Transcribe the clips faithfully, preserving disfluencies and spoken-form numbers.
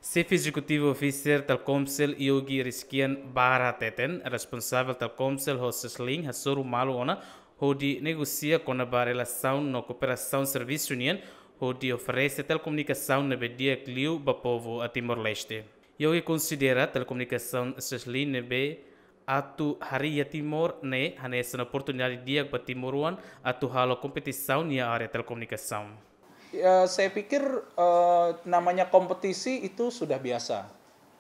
Xefe Ezekutivu Officer Telkomcel, Yogi Rizkian Bara hateten, responsavel Telkomcel ho Ceslink hasoru malu ona hodi negosia kona-ba relasaun no kooperasaun servisu nian hodi oferese telekomunikasaun ne'ebé di'ak liu ba povu Timor-Leste. Yogi konsidera telekomunikasaun Ceslink ne'ebé atu harii iha Timor ne'e hanesan oportunidade di'ak ba timoroan atu halo kompetisaun iha área telekomunikasaun. Ya, saya pikir eh, namanya kompetisi itu sudah biasa.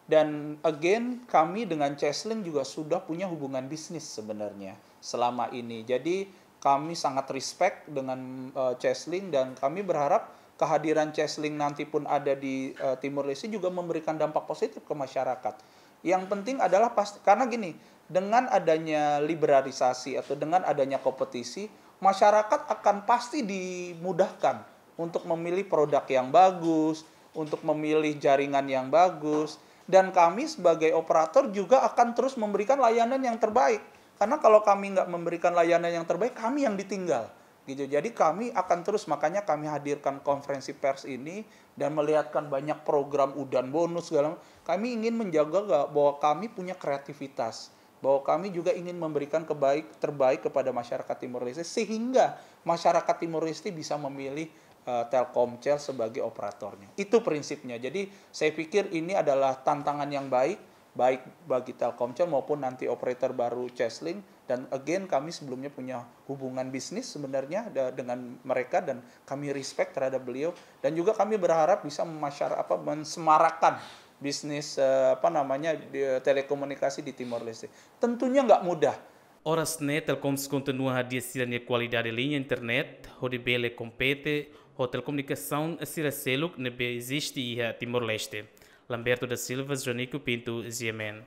Dan again, kami dengan Ceslink juga sudah punya hubungan bisnis sebenarnya selama ini. Jadi kami sangat respect dengan eh, Ceslink dan kami berharap kehadiran Ceslink nanti pun ada di eh, Timor Leste juga memberikan dampak positif ke masyarakat. Yang penting adalah pasti, karena gini, dengan adanya liberalisasi atau dengan adanya kompetisi, masyarakat akan pasti dimudahkan untuk memilih produk yang bagus, untuk memilih jaringan yang bagus, dan kami sebagai operator juga akan terus memberikan layanan yang terbaik. Karena kalau kami nggak memberikan layanan yang terbaik, kami yang ditinggal. Gitu. Jadi kami akan terus, makanya kami hadirkan konferensi pers ini dan melihatkan banyak program udan bonus segala macam. Kami ingin menjaga ga- bahwa kami punya kreativitas, bahwa kami juga ingin memberikan kebaik terbaik kepada masyarakat Timor Leste sehingga masyarakat Timor Leste bisa memilih eh, Telkomcel sebagai operatornya. Itu prinsipnya. Jadi saya pikir ini adalah tantangan yang baik, baik bagi Telkomcel maupun nanti operator baru Ceslink. Dan again, kami sebelumnya punya hubungan bisnis sebenarnya da- dengan mereka dan kami respect terhadap beliau. Dan juga kami berharap bisa memasyar apa mensemarakan bisnis eh, apa namanya di, telekomunikasi di Timor Leste. Tentunya nggak mudah. Oras ne'e Telkomcel kontinua hadi'a sira-nia kualidade liña internet hodi bele kompete ho telekomunikasaun sira seluk ne'ebé eziste iha Timor-Leste. Lamberto da Silva, Jonico Pinto, G M N.